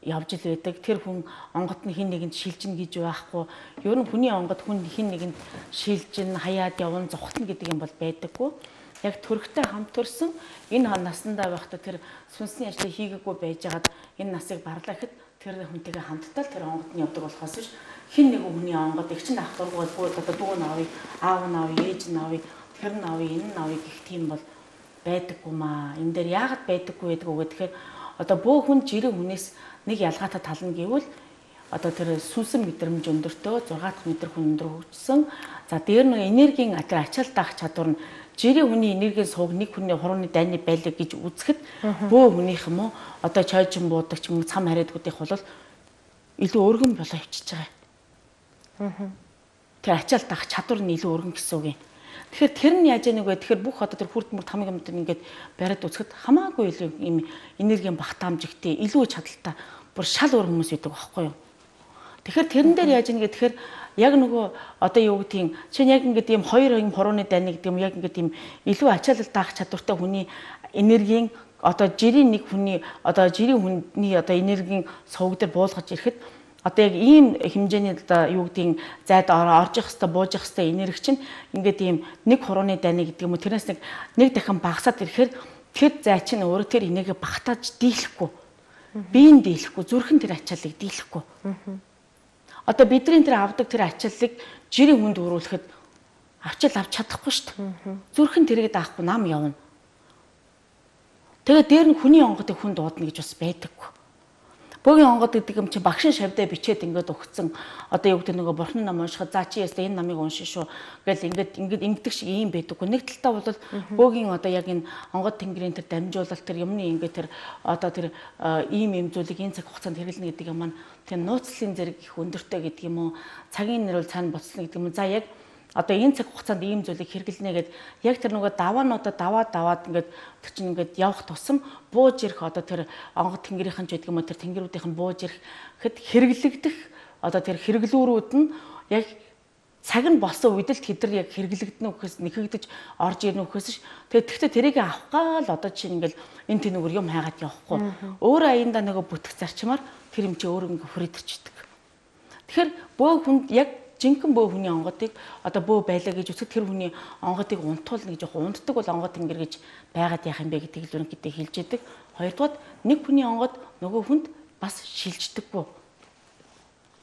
явж ил байдаг. Тэр хүн онгод нь хин нэгэнд шилжин гэж байхгүй. Ер нь хүний онгод хүн хин нэгэнд шилжин хаяад явна зогтно гэдэг юм бол байдаггүй. Яг төрхтэй хамт төрсөн энэ наснда байхдаа тэр сүнсний ажлыг хийгээгүй байжгаад энэ насыг барлаа гэхэд тэр хүнтэйгээ хамтдаа тэр онгод нь явдаг болохоос ш хин нэг хүний онгод их чин ах дургуул бууд одоо дүү навыг аав навыг ээж навыг тэр навыг энэ навыг гэх тийм бол байдаггүй маа. Энэ дээр яагаад байдаггүй гэдэг үг гэхээр одоо бөө хүн жирийн хүнээс нэг ялгаатай тал нь гэвэл одоо тэр сүнсэн мэдрэмж өндөртөө 6 дахь метр хүн өндөр хөгжсөн. За дээр нь энергийн тэр ачаал даах чадвар нь жирийн хүний энергийн сувг нэг хүний хурууны дайны байлиг гэж үзэхэд бөө хүнийх юм уу одоо чойжин буудаг ч юм уу цам хариадгуудынх бол илүү өргөн болоо хөвчиж байгаа. Тэр ачаал даах чадвар нь илүү өргөн гэсэн үг юм. Тэгэхээр тэр нь яаж яаг вэ? Тэгэхээр бүх одоо тэр хүрд мөрд хамаг юмд ингээд бариад үзэхэд хамаагүй илүү юм энергийн багтаамжигтэй илүү чадaltaа бүр шал өөр хүмүүс байдаг байхгүй юу? Тэгэхээр тэрэн дээр яаж яаг гэхээр яг нөгөө одоо юу гэдгийг чинь яг ингээд ийм хоёр юм хурууны дайны гэдэг юм яг ингээд ийм илүү ачаалал даах чадвартай хүний энергийн одоо жирийн нэг хүний одоо жирийн хүний одоо энергийн сувг дээр буулгаж ирэхэд одоо яг ийм хэмжээний одоо юу гэдгийг зайд орж явах хэвээр бууж явах хэвээр энерги чинь ингээд ийм нэг хурууны дайны гэдэг юм уу тэрнээс нэг дахин багасаад ирэхээр тэр зай чинь өөрөө тэр энерги багтааж дийлэхгүй биеийн дийлэхгүй зүрхэн тэр ачааллыг дийлэхгүй одоо бидний тэр авдаг тэр ачааллыг жирийн хүнд өрүүлэхэд авчаал авч чадахгүй шүү дээ зүрхэн тэрийг даахгүй нам явна тэгээд дээр нь хүний онгодыг хүн дуудана гэж бас байдаггүй. Бөөгийн онгод гэдэг юм чи багшин шавьдаа бичээд ингээд өгцөн одоо юу гэдэг нөгөө бурхан ном уншихад за чи ястаа энэ намыг уншин шүү гэл ингээд ингэдэг шиг ийм байдаггүй. Нэг талдаа бол бөөгийн одоо яг энэ онгод тэнгэрийн тэр дамжуулалт тэр юмны ингээд тэр одоо тэр ийм зүйлийг энэ цаг хугацаанд хэрэглэнэ гэдэг юм маань тэр нууцлалын зэрэг их өндөртэй гэдэг юм уу цагийн нэр бол цаана боцлоо гэдэг юм. За яг одоо энэ цаг хугацаанд ийм зүйлийг хэрэглэнэ гэд яг тэр нөгөө даваануудаа даваад ингээд тэр чинь ингээд явах тусам бууж ирэх одоо тэр онгод тэнгэрийнхэн ч гэдэг юм уу тэр тэнгэрүүдийнх нь бууж ирэхэд хэрэглэгдэх одоо тэр хэрэглүүрүүд нь яг цаг нь болсон үед л тэдэр яг хэрэглэгдэнэ үхээс нэхэгдэж орж ирнэ үхээс ш. Тэгэхдээ тэрийг авах гал одоо чинь ингээд энэ тэнүүгээр юм хайгаад явахгүй. Өөр аяндаа нөгөө бүтэх зарчмаар тэр юм чи өөр ингээд хүрээдэрчдэг. Тэгэхээр бөө хүнд яг жинхэнэ бөө хүний онгодыг одоо бөө байлаа гэж үзэхэд тэр хүний онгодыг унтуулна гэж яг унтдаг бол онгод тэнгэр гэж байгаад яах юм бэ гэдгийг л ерөнхийдөө хэлж яадаг. Хоёрдугаар нэг хүний онгод нөгөө хүнд бас шилждэггүй.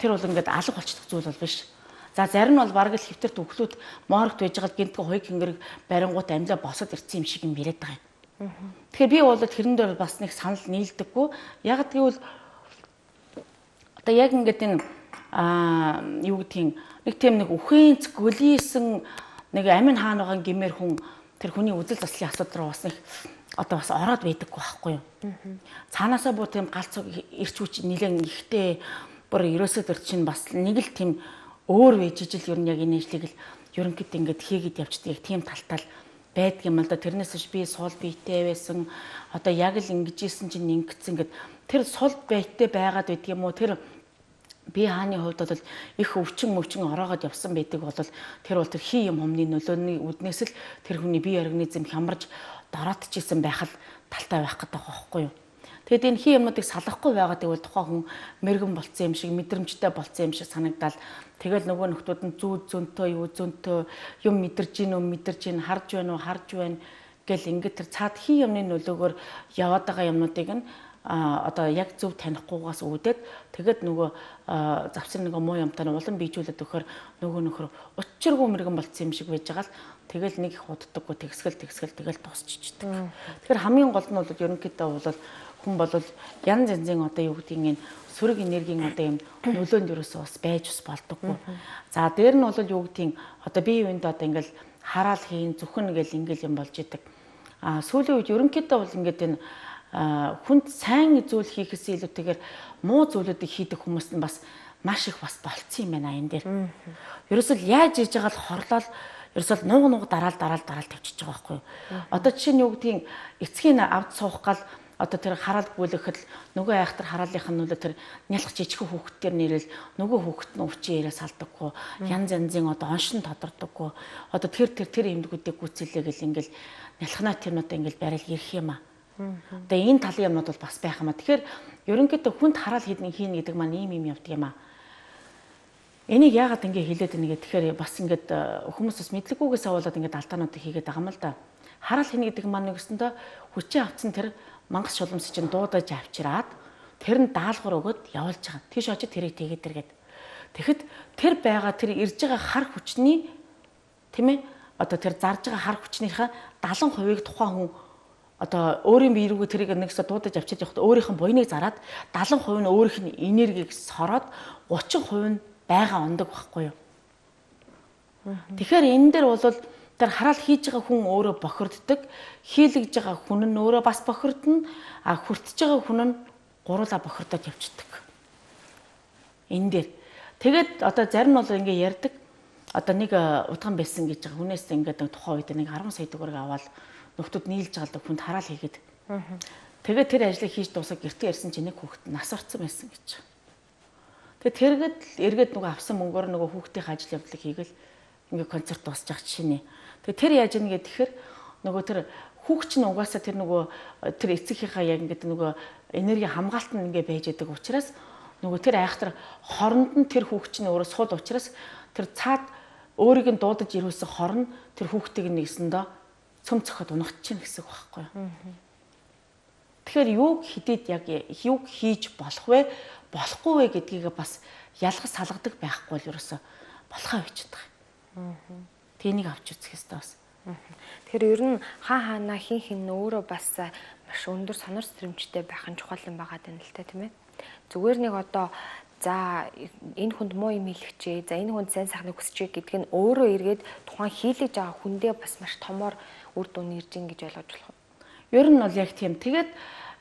Тэр бол ингээд алга болчихдог зүйл бол биш. За зарим нь бол бараг л хэвтэрт өглөөд моорогт байж байгаа гинтгэ хоёг тэнгэр барингууд амьлаа босоод ирсэн юм шиг юм яриад байгаа юм. Тэгэхээр би бол тэрэн дээр бас нэг санал нийлдэггүй. Яг тэгвэл одоо яг ингээд энэ юу гэдгийг нэг тийм нэг үхэнц гөлийсэн нэг амин хаан байгаа гэмээр хүн тэр хүний үзэл заслын асуудал руу бас нэг одоо бас ороод байдаггүй байхгүй юу. Цаанаасаа бүр тийм галцог ирч хүч нэлээд ихтэй бүр ерөөсөө төр чинь бас нэг л тийм өөр вэжижил ер нь яг энэ ажлыг л ерөнхийдөө ингээд хийгээд явчихдаг. Яг тийм талтал байдаг юм л да. Тэрнээс биш би сул биетэй байсан. Одоо яг л ингэжсэн чинь ингэсэн гэд тэр сул биетэй байгаад байдаг юм уу? Тэр би хааны хувьд бол их өвчин ороогоод явсан байдаг бол тэр бол тэр хий юм humны нөлөөний үднээс л тэр хүний бие организм хямарж дороотчихсэн байх л талтай байх гэдэг байхгүй юу? Тэгэд энэ хий юмнуудыг салахгүй байгаад гэвэл тухайн хүн мэрэгэн болцсон юм шиг мэдрэмжтэй болцсон юм шиг санагдал. Тэгэл нөгөө нөхдүүд нь зөнтөө юм мэдэрж гин харж байна гэл ингээд тэр цаад хий юмны нөлөөгөөр яваад байгаа юмнуудыг нь одоо яг зөв танихгүйгаас үүдээд тэгэд нөгөө завсар нэг муу юмтай улам бийжүүлээд өгөхөр нөгөө нөхөр учиргүй мэрэгэн болцсон юм шиг байж байгаа л тэгэл нэг их уддаггүй тэгсгэл тэгэл дуусчихдаг. Тэгэхээр хамгийн гол нь бол ерөнхийдөө бол хүн бол янз янзын одоо юу гэдгийг энэ сөрөг энергийн одоо юм нөлөөнд ерөөсөө бас байж болдоггүй. За дээр нь бол юу гэдгийг одоо бие биендээ одоо ингээл хараал хийн зүхэн гэл ингээл юм болж идэг. Сүүлийн үед ерөнхийдөө бол ингээд энэ хүнд сайн зүйл хийхээс илүүтэйгээр муу зүйлүүдийг хийдэг хүмүүс нь бас маш их бас болцсон юм байна энэ дээр. Ерөөсөө яаж хийж байгаа л хорлол ерөөсөө нууг дараал тавьчихж байгаа байхгүй юу. Одоо жишээ нь юу гэдгийг эцгийн авд суух гал одоо тэр хараал гүйлэхэд нөгөө айхтар хараалынх нь нөлөө тэр нялх жижиг хүүхдтэр нэрэл нөгөө хүүхд нь өвчин яриа салдаггүй янз янзын одоо оншин тодордоггүй одоо тэр юмдгүүдийг гүйцэлээ гэл ингээл нялхнаа тэрнүүдээ ингээл барил ирэх юм аа. Одоо энэ талын юмнууд бол бас байх юм аа. Тэгэхээр ерөнхийдөө хүнд хараал хийн гэдэг маань ийм юм явдаг юм аа. Энийг яагаад ингэ хэлээд байна гэхээр бас ингээд хүмүүс бас мэдлэггүйгээс аваад ингээд алдаануудыг хийгээд байгаа юм л да. Хараал хийнэ гэдэг маань нэгсэндээ хүчээ авцсан тэр мангас шулмс чинь дуудаж авчираад тэр нь даалгавар өгöd явуулж байгаа. Тийш очиж тэрийг тэгээд тэргээд. Тэгэхэд тэр байгаа тэр ирж байгаа хар хүчний тийм ээ одоо тэр зарж байгаа хар хүчнийхээ 70%-ийг тухайн хүн одоо өөрийн бие рүүгээ тэрийг нэгсээ дуудаж авчиж явахдаа өөрийнх нь буйныг зараад 70% нь өөрийнх нь энергийг сороод 30% нь байгаа ондог байхгүй юу. Тэгэхээр энэ дээр бол тэр хараал хийж байгаа хүн өөрөө бохирддог, хийлгэж байгаа хүн нь өөрөө бас бохирдно, хүртэж байгаа хүн нь гуруула бохирдоод явчихдаг. Энэ дээр. Тэгээд одоо зарим нь бол ингээ ярьдаг. Одоо нэг удхан байсан гэж байгаа хүнээс ингээд тухайн үед нэг 10 сая төгрөг аваад нөхдүүд нийлж байгаа хүнд хараал хийгээд. Тэгээд тэр ажлыг хийж дуусаад гэртээ ирсэн чинь нэг хүүхэд нас орсон байсан гэж. Тэгээд тэргээд эргээд нөгөө авсан мөнгөөр нөгөө хүүхдийн ажил явдлыг хийгээл ингээ концерт дуусчих жишээ нэ. Тэгээ тэр яаж ийн гэхээр нөгөө тэр хүүхч нь угаасаа тэр нөгөө тэр эцэгийнхаа яг ингээд нөгөө энерги хамгаалт нь ингээ байж байгаа учраас нөгөө тэр айхтар хоронд нь тэр хүүхч нь өөрөө сул учраас тэр цаад өөрийг нь дуудаж ирүүлсэн хорн тэр хүүхдийг нэгсэндээ цөм цохоод унахчихна гэсэн үг байхгүй юу. Тэгэхээр юуг хидээд яг юуг хийж болох вэ болохгүй вэ гэдгийг бас ялгаж салгадаг байхгүй л ерөөсө болохоо бичдэг. Тэнийг авч үзэх хэрэгтэй бас. Тэгэхээр ер нь хаана хин өөрөө бас маш өндөр сонор сэтэрэмжтэй байх нь чухал юм байгаа юм л та тийм ээ. Зүгээр нэг одоо за энэ хүнд муу юм хэлчихээ, за энэ хүнд сайн сайхныг хүсчихээ гэдг нь өөрөө эргээд тухайн хийлгэж байгаа хүндээ бас маш томоор үр дүн ирж ин гэж ойлгож болох юм. Ер нь бол яг тийм. Тэгээд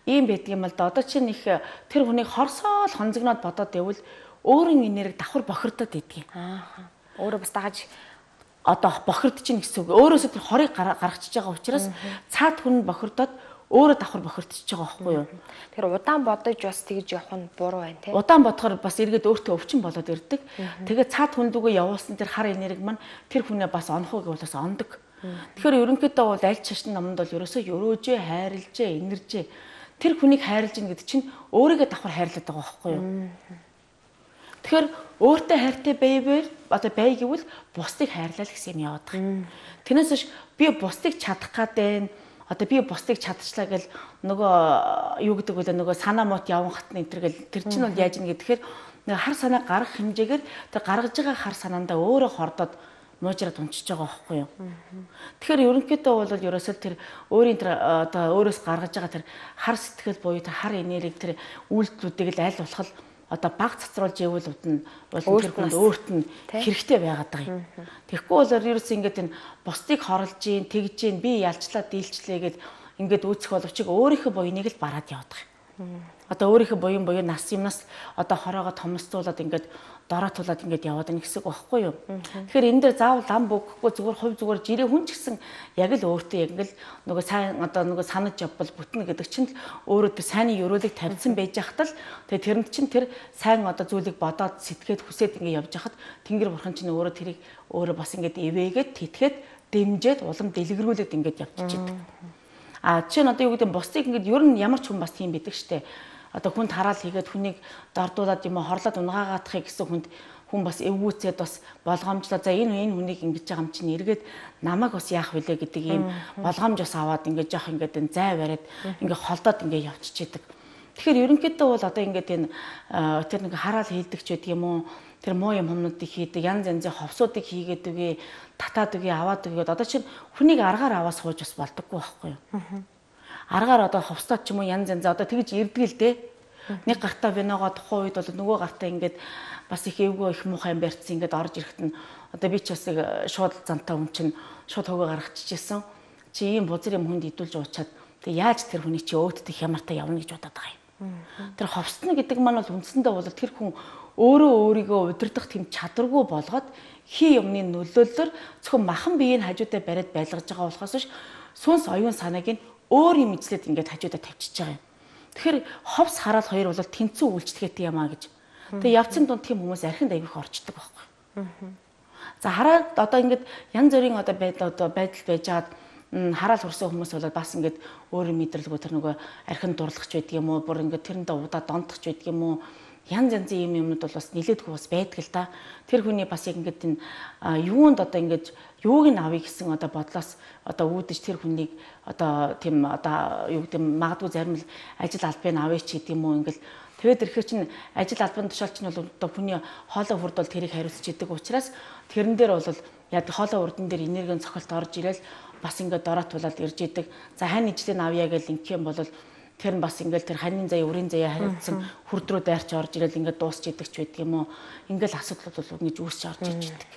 ийм байдаг юм л да. Одоо чинь их тэр хүнийг хорсоол хонзогноод бодоод байвал өөрийн энерги давхар бохирдоод идэх юм. Өөрөө бас дагаж одоо бохирдож чинь гэсэн үг. Өөрөөсөө тэр хорыг гаргачихж байгаа учраас цаад хүн бохирдоод өөрөө давхар бохирдчихж байгаа байхгүй юу? Тэр удаан бодож бас тэгж явах нь буруу байна тийм. Удаан бодохоор бас эргээд өөртөө өвчин болоод ирдэг. Тэгээд цаад хүндүүгээ явуулсан тэр хар энерги маань тэр хүнээ бас онохоо гэвэл бас ондог. Тэгэхээр ерөнхийдөө бол аль чашны номонд бол ерөөсөө өрөөжээ, хайрлжээ, инэржээ. Тэр хүнийг хайрлж ийн гэдэг чинь өөрийгөө давхар хайрлаад байгаа байхгүй юу? Тэгэхээр өөртөө хайртай байвал одоо бай гэвэл бусдыг хайрлаа л гэсэн юм яваад байгаа. Тэрнээс биш би бусдыг чадах гэдэг одоо би бусдыг чадчихлаа гэл нөгөө юу гэдэг вэ нөгөө санаа мот яван хатны энэ гэл тэр чинь бол яаж ийн гэхээр нэг хар санаа гарах хэмжээгээр тэр гаргаж байгаа хар санаандаа өөрөө хордоод муужраад унчиж байгаа байхгүй юу. Тэгэхээр ерөнхийдөө бол ерөөсөө тэр өөрийн тэр одоо өөрөөс гаргаж байгаа тэр хар сэтгэл буюу тэр хар энерги тэр үйлдэлүүдийг л аль болох одоо баг цацруулж явуулвд нь бол тэр хүнд өөрт нь хэрэгтэй байгаад байгаа юм. Тэгэхгүй бол ерөөсөө ингээд энэ бусдыг хорлж гин тэгж гин би ялчлаа дийлчлээ гэд ингээд үүсэх боловч өөрийнхөө буйныг л бараад яваад байгаа юм. Одоо өөрийнхөө буян нас юмнаас одоо хороогоо томсдуулаад ингээд дороотуулаад ингээд яваад нэг хэсэг байхгүй юу. Тэгэхээр энэ дээр заавал лам бүгэхгүй зүгээр хувь зүгээр жирээ хүн ч гэсэн яг л өөртөө яг л нөгөө сайн одоо нөгөө санаж явбал бүтнэ гэдэг чинь л өөрөө тэр сайнны ёроолыг тавьсан байж хахад л тэгээ тэрэнд чинь тэр сайн одоо зүйлийг бодоод сэтгэхэд хүсээд ингээд явж хахад Тэнгэр бурхан чинь өөрөө тэрийг өөрөө бас ингээд ивээгээд тэтгээд дэмжээд улам дэлгэрүүлээд ингээд явчихдаг. Жишээ нь одоо юу гэдэг нь бусдыг ингээд ер нь ямар ч хүн бас тийм бидэг штэ. Одоо хүнд хараал хийгээд хүнийг дордуулаад юм хорлоод унгаагаадахыг гэсэн хүн бас эвгүүцээд бас болгоомжлоо. За энэ хүнийг ингэж байгаа юм чинь эргээд намайг бас яах вүлээ гэдэг ийм болгоомж бас аваад ингэж яах ингээд энэ зай бариад ингээд холдоод ингээд явчихдаг. Тэгэхээр ерөнхийдөө бол одоо ингээд энэ тэр нэг хараал хийдэг ч байдаг юм уу? Тэр муу юм хүмүүдийг хийдэг, янз янзын ховсуудыг хийгээд үгүй, татаад үгүй, аваад үгүй. Одоо чинь хүнийг аргаар аваад сууж бас болдоггүй байхгүй юу? Аргаар одоо ховстоод ч юм уу янз янз одоо тэгж ирдэг л дээ. Нэг гартаа виногоо тухайн үед бол нөгөө гартаа ингээд бас их эвгүй их муухай юм барьцсан ингээд орж ирэхэд нь одоо би ч бас нэг шууд зантаа хүн чинь шууд хөгөө гаргачихжээ. Чи ийм бузар юм хүнд идүүлж уучаад тэг яаж тэр хүний чи өөддөх хямартай явна гэж бодоод байгаа юм. Тэр ховстно гэдэг маань бол үндсэндээ бол тэр хүн өөрөө өөрийгөө удирдах тэм чадваргүй болгоод хий юмны нөлөөллөөр зөвхөн махан биеийг хажуудаа бариад байлгаж байгаа болохоос биш сүнс оюун санааг нь өөр юм ижлээд ингээд хажуудаа тавьчихж байгаа юм. Тэгэхээр ховс хараал хоёр бол тэнцүү үйлчлэгээтэй юм аа гэж. Тэгээ явцын дунд тийм хүмүүс архинд аявих орчдөг байхгүй. За хараад одоо ингээд янз бүрийн одоо байдал байж хаад хараал хүрсэн хүмүүс бол бас ингээд өөрийн мэдрэлгүй тэр нөгөө архинд дурлагч байдаг юм уу, бүр ингээд тэрэндээ удаа донтогч байдаг юм уу. Янз янзын юмнууд бол бас нилээдгүй бас байдаг л да. Тэр хүний бас яг ингээд энэ юунд одоо ингээд юуг нь авъя гэсэн одоо бодлоос одоо үүдэж тэр хүнийг одоо тийм одоо юу гэдэг магадгүй зарим л ажил албыг авъя ч гэдэг юм уу ингээд тэгээд ирэхээр чинь ажил албаны тушаалч нь бол одоо хүний хоолой хүрд бол тэрийг хариуцж идэг учраас тэрэн дээр бол яг хоолой урдан дээр энергийн цохилт орж ирэл бас ингээд дороотуулаад ирж идэг. За хань ижлийг авъя гэж ингэх юм бол тэр нь бас ингээл тэр ханийн заяа, өрийн заяа хариуцсан хүрд рүү дайрч орж ирэл ингээд дуусч идэх ч байдаг юм уу. Ингээл асуудлууд бол ингэж үүсч орж иж идэг.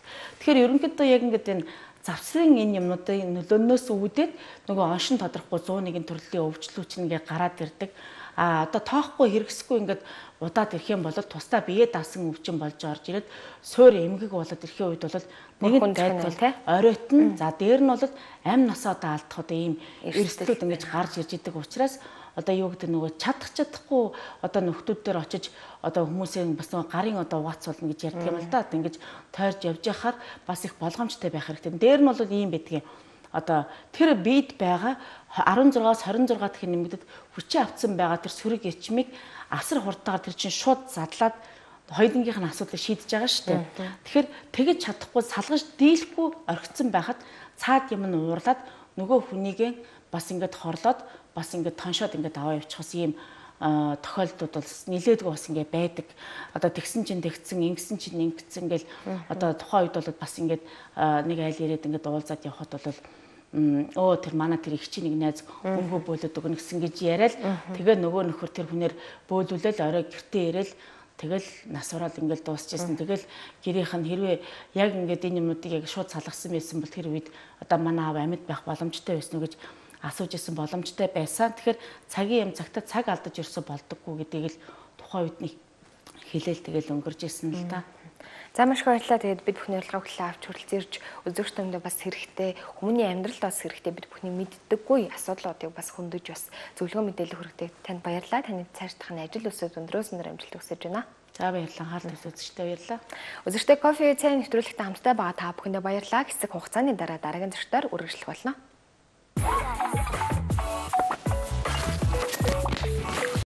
Тэгэхээр ерөнхийдөө яг ингээд энэ завсрын энэ юмнуудын нөлөөнөөс үүдээд нөгөө оншин тодорхохгүй 101-ийн төрлийн өвчлөлч нэгээ гараад ирдэг. Одоо тоохгүй хэрэгсэхгүй ингээд удаад ирэх юм бол тусдаа бие даасан өвчин болж орж ирээд суур эмгэг болоод ирэхийн үед бол нэгэн гайдвал оройтно. За дээр нь бол амь насаа одоо алдах одоо ийм эрсдлүүд ингэж гарч ирж идэг учраас одоо юу гэдэг нөгөө чадахгүй одоо нөхдүүд дээр очиж одоо хүмүүсийн бас нөгөө гарын одоо вац болно гэж ярьдаг юм л да. Ингэж тойрж явж яхаар бас их болгоомжтой байх хэрэгтэй. Дээр нь бол ийм байдгийн одоо тэр биед байгаа 16-аас 26 дахин нэмэгдэд хүчээ автсан байгаа тэр сүрэг эрчмийг асар хурдтайгаар тэр чинь шууд задлаад хоёулангийнх нь асуудлыг шийдэж байгаа шүү дээ. Тэгэхээр тэгэж чадахгүй салгаж дийлэхгүй орхицсан байхад цаад юм нь уурлаад нөгөө хүнийгээ бас ингээд хорлоод бас ингээд тоншоод ингээд аваа явчихсан ийм тохиолдлууд бол нилээдгүй бас ингээд байдаг. Одоо тэгсэн чинь тэгсэн, ингэсэн чинь ингэсэн гэл одоо тухайн үед бол бас ингээд нэг айл ирээд ингээд уулзаад явхад бол тэр манай тэр их чи нэг найз өнгөө бөөлөд өгнө гэсэн гэж яриад тэгээ нөгөө нөхөр тэр хүнээр бөөлүүлэл орой гэртээ ирээл тэгэл нас ураад ингээд дуусчихсан. Тэгэл гэрийнх нь хэрвээ яг ингээд энэ юмнуудыг яг шууд салгасан байсан бол тэр үед одоо манай аав амьд байх боломжтой байсан уу гэж асууж исэн боломжтой байсан. Тэгэхээр цагийн юм цагтаа цаг алдаж ерөөсө болдоггүй гэдгийг л тухайн үед нэг хэлээл тэгэл өнгөрж исэн л та. За маш их баярлалаа. Тэгээд бид бүхний урилга хүлээ авч хүрэлцээрч үзэгчдэндээ бас хэрэгтэй, хүмүүний амьдралд бас хэрэгтэй бид бүхний мэддэггүй асуудлуудыг бас хөндөж бас зөвлөгөө мэдээлэл хүргэдэг танд баярлалаа. Таны цаашдах нь ажил өсөд өндрөөс өндөр амжилт хүсэж байна. За баярлалаа. Хаалт үзэгчтэй баярлалаа. Үзэгчтэй кофе цай нэвтрүүлэгтээ хамтдаа байгаа та бүхэндээ баярлалаа. Хэсэг хугацааны дараа дараагийн зочдоор үргэлжлэх болно.